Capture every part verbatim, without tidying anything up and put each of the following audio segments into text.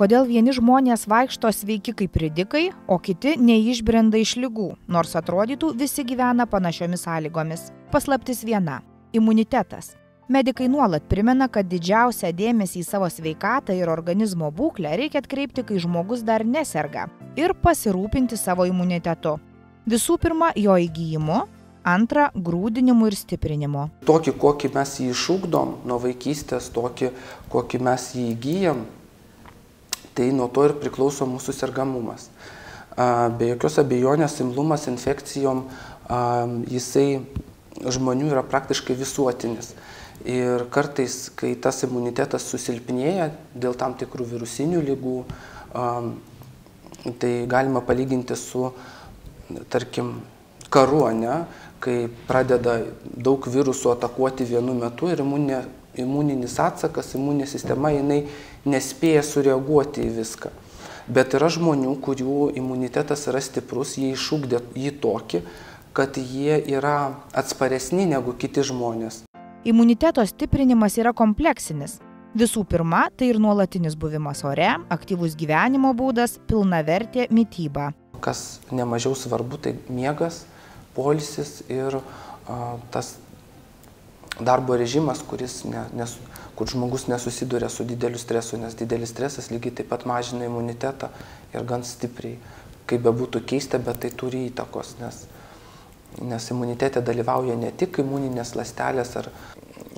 Kodėl vieni žmonės vaikšto sveiki kaip ridikai, o kiti neišbrenda iš ligų, nors atrodytų visi gyvena panašiomis sąlygomis. Paslaptis viena – imunitetas. Medikai nuolat primena, kad didžiausią dėmesį į savo sveikatą ir organizmo būklę reikia atkreipti, kai žmogus dar neserga, ir pasirūpinti savo imunitetu. Visų pirma, jo įgijimu, antra, grūdinimu ir stiprinimu. Tokį, kokį mes jį išugdom nuo vaikystės, tokį, kokį mes jį įgyjam, tai nuo to ir priklauso mūsų sergamumas. Be jokios abejonės imlumas infekcijom, jisai žmonių yra praktiškai visuotinis. Ir kartais, kai tas imunitetas susilpnėja dėl tam tikrų virusinių ligų, tai galima palyginti su, tarkim, karu, ne? Kai pradeda daug virusų atakuoti vienu metu ir imuninė, imuninis atsakas, imuninė sistema, jinai nespėja sureaguoti į viską. Bet yra žmonių, kurių imunitetas yra stiprus, jie išugdė jį tokį, kad jie yra atsparesni negu kiti žmonės. Imuniteto stiprinimas yra kompleksinis. Visų pirma, tai ir nuolatinis buvimas ore, aktyvus gyvenimo būdas, pilnavertė mityba. Kas nemažiau svarbu, tai miegas, poilsis ir a, tas darbo režimas, kuris ne, nes, kur žmogus nesusiduria su dideliu stresu, nes didelis stresas lygiai taip pat mažina imunitetą ir gan stipriai. Kaip bebūtų keista, bet tai turi įtakos, nes, nes imunitete dalyvauja ne tik imuninės ląstelės ar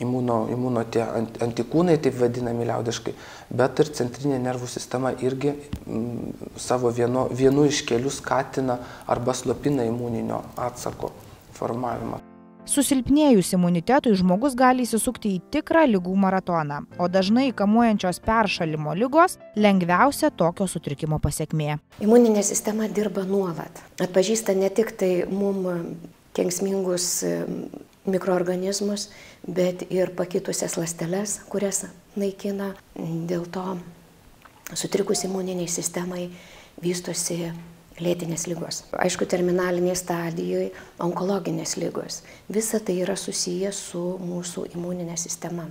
imuno, imuno tie antikūnai, taip vadinami liaudiškai, bet ir centrinė nervų sistema irgi m, savo vieno, vienu iš kelių skatina arba slopina imuninio atsako formavimą. Susilpnėjus imunitetui žmogus gali įsisukti į tikrą ligų maratoną, o dažnai kamuojančios peršalimo ligos lengviausia tokio sutrikimo pasekmė. Imuninė sistema dirba nuolat. Atpažįsta ne tik tai mum kenksmingus mikroorganizmus, bet ir pakitusias ląsteles, kurias naikina. Dėl to sutrikus imuniniai sistemai vystosi lėtinės ligos. Aišku, terminalinėje stadijoje onkologinės ligos. Visa tai yra susiję su mūsų imuninė sistema.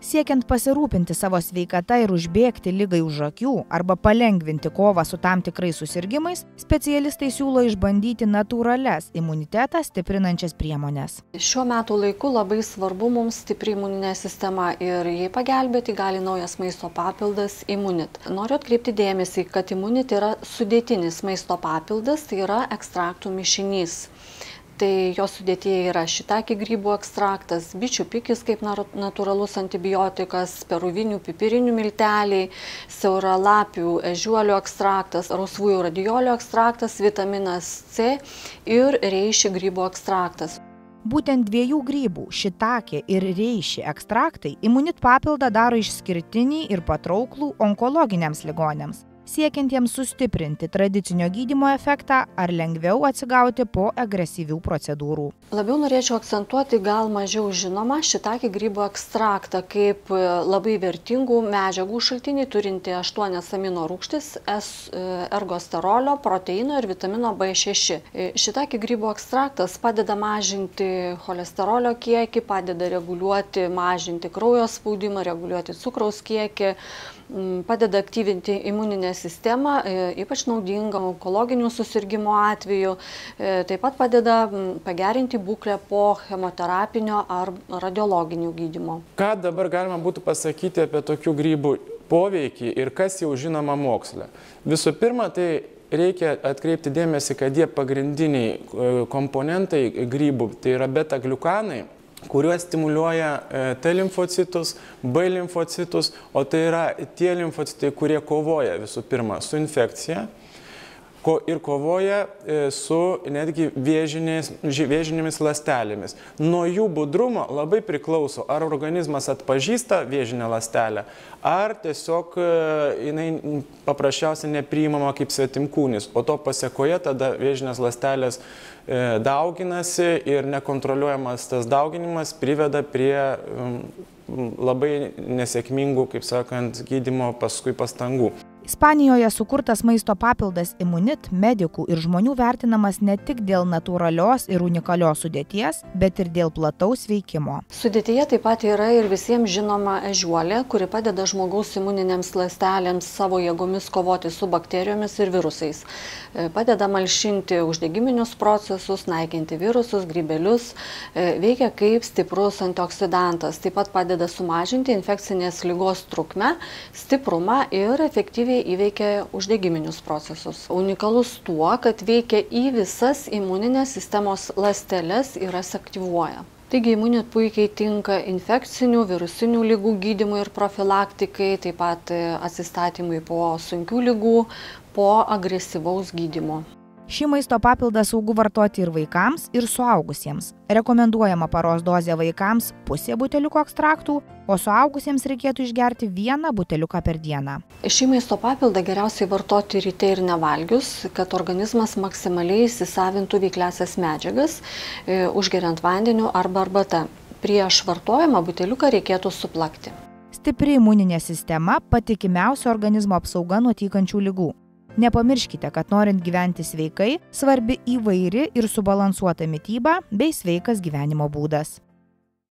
Siekiant pasirūpinti savo sveikata ir užbėgti ligai už akių arba palengvinti kovą su tam tikrais susirgimais, specialistai siūlo išbandyti natūralias imunitetą stiprinančias priemones. Šiuo metų laiku labai svarbu mums stipri imuninė sistema ir jai pagelbėti gali naujas maisto papildas Immunit. Noriu atkreipti dėmesį, kad Immunit yra sudėtinis maisto papildas, tai yra ekstraktų mišinys. Tai jos sudėtyje yra šitaki grybų ekstraktas, bičių pikis kaip natūralus antibiotikas, peruvinių pipirinių milteliai, siauralapių ežiuolių ekstraktas, rausvųjų radiolių ekstraktas, vitaminas C ir reiši grybų ekstraktas. Būtent dviejų grybų, šitakė ir reiši ekstraktai, Immunit papildą daro išskirtinį ir patrauklų onkologiniams ligoniams, siekiantiems sustiprinti tradicinio gydymo efektą ar lengviau atsigauti po agresyvių procedūrų. Labiau norėčiau akcentuoti gal mažiau žinomą šitakį grybų ekstraktą kaip labai vertingų medžiagų šaltinį turinti aštuonias amino rūgštis, ergosterolio, proteino ir vitamino B šeši. Šitakį grybų ekstraktas padeda mažinti cholesterolio kiekį, padeda reguliuoti, mažinti kraujo spaudimą, reguliuoti cukraus kiekį, padeda aktyvinti imuninę sistemą, ypač naudinga onkologinių susirgymų atveju, taip pat padeda pagerinti būklę po chemoterapinio ar radiologinių gydymo. Ką dabar galima būtų pasakyti apie tokių grybų poveikį ir kas jau žinoma moksle? Visų pirma, tai reikia atkreipti dėmesį, kad jie pagrindiniai komponentai grybų, tai yra beta-gliukanai, kuriuos stimuliuoja T limfocitus, B limfocitus, o tai yra tie limfocitai, kurie kovoja visų pirma su infekcija ir kovoja su netgi vėžinėmis ląstelėmis. Nuo jų budrumo labai priklauso, ar organizmas atpažįsta vėžinę ląstelę, ar tiesiog jinai paprasčiausiai nepriimama kaip svetimkūnis, o to pasekoje tada vėžinės ląstelės dauginasi ir nekontroliuojamas tas dauginimas priveda prie labai nesėkmingų, kaip sakant, gydymo paskui pastangų. Ispanijoje sukurtas maisto papildas Immunit medikų ir žmonių vertinamas ne tik dėl natūralios ir unikalios sudėties, bet ir dėl plataus veikimo. Sudėtyje taip pat yra ir visiems žinoma ežiuolė, kuri padeda žmogaus imuninėms ląstelėms savo jėgomis kovoti su bakterijomis ir virusais. Padeda malšinti uždegiminius procesus, naikinti virusus, grybelius, veikia kaip stiprus antioksidantas. Taip pat padeda sumažinti infekcinės ligos trukmę, stiprumą ir efektyviai įveikia uždegiminius procesus. Unikalus tuo, kad veikia į visas imuninės sistemos ląsteles ir jas aktyvuoja. Taigi Immunit puikiai tinka infekcinių, virusinių ligų gydymui ir profilaktikai, taip pat atsistatymui po sunkių ligų, po agresyvaus gydymo. Šį maisto papildą saugu vartoti ir vaikams, ir suaugusiems. Rekomenduojama paros dozė vaikams pusė buteliuko ekstraktų, o suaugusiems reikėtų išgerti vieną buteliuką per dieną. Šį maisto papildą geriausiai vartoti ryte ir nevalgius, kad organizmas maksimaliai įsisavintų veikliąsias medžiagas, užgeriant vandeniu arba arbata. Prieš vartojimą buteliuką reikėtų suplakti. Stipri imuninė sistema – patikimiausia organizmo apsauga nuo tykančių ligų. Nepamirškite, kad norint gyventi sveikai, svarbi įvairi ir subalansuota mityba bei sveikas gyvenimo būdas.